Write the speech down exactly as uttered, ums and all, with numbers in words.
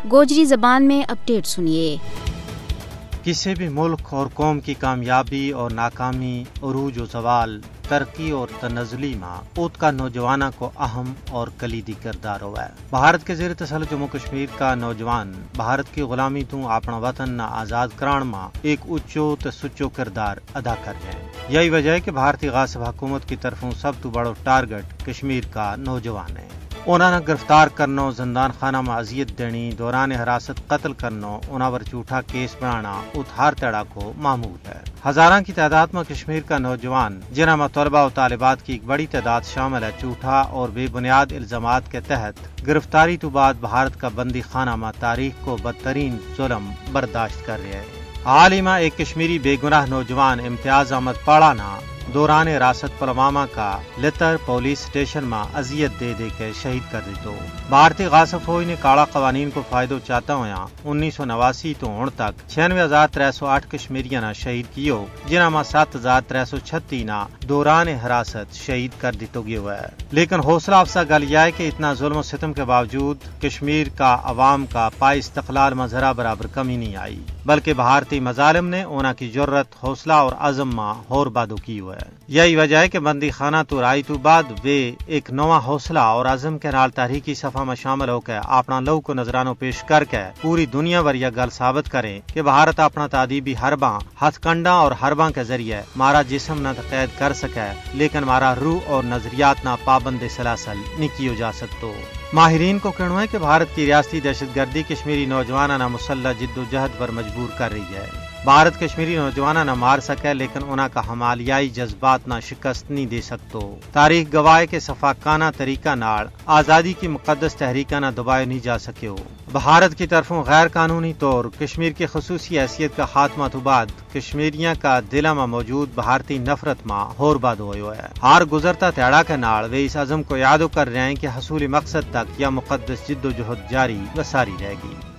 گوجری زبان میں اپڈیٹ سنیے۔ کسی بھی ملک اور قوم کی کامیابی اور ناکامی، عروج و زوال، ترقی اور تنزلی ما ات کا نوجواناں کو اہم اور کلیدی کردار ہوا ہے۔ بھارت کے زیر تسلط جموں کشمیر کا نوجوان بھارت کی غلامی توں اپنا وطن نا آزاد کران ما ایک اچو تے سچو کردار ادا کر رہے ہیں۔ یہی وجہ ہے کہ بھارتی غاصب حکومت کی طرفوں سب تو بڑو ٹارگٹ کشمیر کا نوجوان ہے۔ انہاں نا گرفتار کرنو، زندان خانہ ما اذیت دینی، دوران حراست قتل کرنو، انہاں پر جھوٹا کیس بنانا ات ہر تیڑا کو معمول ہے۔ ہزاراں کی تعداد ما کشمیر کا نوجوان، جنہاں ما طلبا و طالبات کی ایک بڑی تعداد شامل ہے، جھوٹا اور بے بنیاد الزامات کے تحت گرفتاری تو بعد بھارت کا بندی خانہ ما تاریخ کو بدترین ظلم برداشت کر رہے ہیں۔ حال ہی ما ایک کشمیری بے گناہ نوجوان امتیاز احمد پاڑا نا دوران حراست پلوامہ کا لتر پولیس اسٹیشن ما اذیت دے دے کے شہید کر دیتو۔ بھارتی غاصب فوج نے کاڑا قوانین کو فائدو چاہتا ہویا انیس سو نواسی تو ہن تک چھیانوے ہزار ترے سو آٹھ کشمیریاں نا شہید کیو، جنہاں ما ست ہزار ترے سو چھتی نا دوران حراست شہید کر دیتو گیو ہے۔ لیکن حوصلہ افزا گل یہ ہے کہ اتنا ظلم و ستم کے باوجود کشمیر کا عوام کا پائے استقلال ما ذرا برابر کمی نہیں آئی، بلکہ بھارتی مظالم نے انہاں کی جرت، حوصلہ اور عزم ما ہور بادو کیو ہے۔ یہی وجہ ہے کہ بندی خانہ تو رائی تو بعد ویہ ایک نواں حوصلہ اور عزم کے نال تحریکی صفحہ ما شامل ہو کے اپنا لوک و نذرانو پیش کر کے پوری دنیا ور یا گل ثابت کریں کہ بھارت اپنا تادیبی حرباں، ہتھ کنڈاں اور حرباں کے ذریعے مارا جسم نا تو قید کر سکے، لیکن مارا روح اور نظریات نا پابند سلاسل نہیں کیو جا سکتو۔ ماہرین کو کہنو ہے کہ بھارت کی ریاستی دہشت گردی کشمیری نوجواناں نا مسلح جد و جہد پر مجبور کر رہی ہے۔ بھارت کشمیری نوجواناں نا مار سکے، لیکن انہاں کا ہمالیائی جذبات نا شکست نہیں دے سکتو۔ تاریخ گواہ ہے کہ صفاقانہ طریقہ نال آزادی کی مقدس تحریکاں نا دبایو نہیں جا سکیو۔ بھارت کی طرفوں غیر قانونی طور کشمیر کی خصوصی حیثیت کا خاتمہ تو بعد کشمیریاں کا دلاں ما موجود بھارتی نفرت ما ہور بادو ہویو ہے۔ ہر گزرتا تیڑا کے نال ویہ اس عزم کو یادو کر رہے ہیں کہ حصول مقصد تک یا مقدس جد و جہد جاری و ساری رہے گی۔